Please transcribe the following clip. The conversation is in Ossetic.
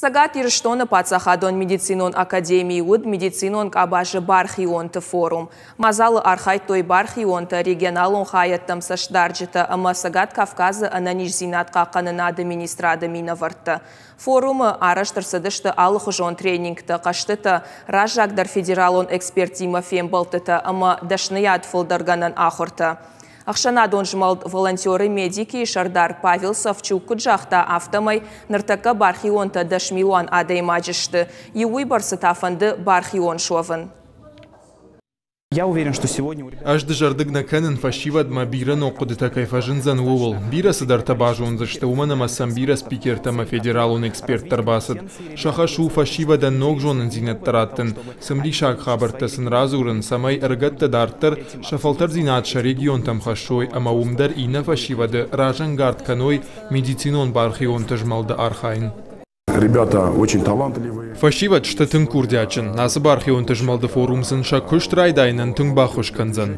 Цӕгат Ирыстоны паддзахадон медицинон академийы уыд медицинон къабазы бархионты форум. Мадзалы архайдтой бархионтӕ, регионалон хайӕдтӕм цӕстдарджытӕ ӕмӕ Цӕгат Кавказы ӕнӕниздзинад хъахъхъӕнынады министрады минӕвӕрттӕ. Форумы арӕзт ӕрцыдысты алыхуызон тренингтӕ, хъӕзтытӕ, раззагдӕр федералон эксперттимӕ фембӕлдтытӕ ӕмӕ дӕсныйад фылдӕргӕнӕн ахуыртӕ. Ӕхсӕнадон змӕлд «Волонтеры медики» сӕрдар Павел Савчук куыд загъта, афтӕмӕй ныртӕккӕ бархионтӕ 10 милуан адӕймаджы сты, иу уыйбӕрцы та фӕнды бархион суӕвын. Я уверен, что сегодня у ребят Ӕз дызӕрдыг нӕ кӕнын, фӕсивӕдмӕ бирӕ ног хъуыдытӕ кӕй фӕзындзӕн, ууыл. Бирӕ цыдӕртӕ базондзысты, уымӕн ӕмӕ сӕм бирӕ спикертӕ ӕмӕ федералон эксперттӕ ӕрбацыд. Сӕ хӕс у фӕсивӕдӕн ног зонындзинӕдтӕ раттын, цымыдисаг хабӕрттӕ сын радзурын, цӕмӕй ӕрыгӕттӕ дарддӕр сӕ фӕлтӕрддзинад сӕ регионтӕм хӕссой ӕмӕ уым дӕр иннӕ фӕсивӕды разӕнгард кӕной медицинон бархионты змӕлды архайын. Ребята очень талантливые. Фӕсивӕд сты тынг курдиатджын. Ацы бархионты змӕлды форум сын сӕ куыст райдайынӕн тынг баххуыс кӕндзӕн.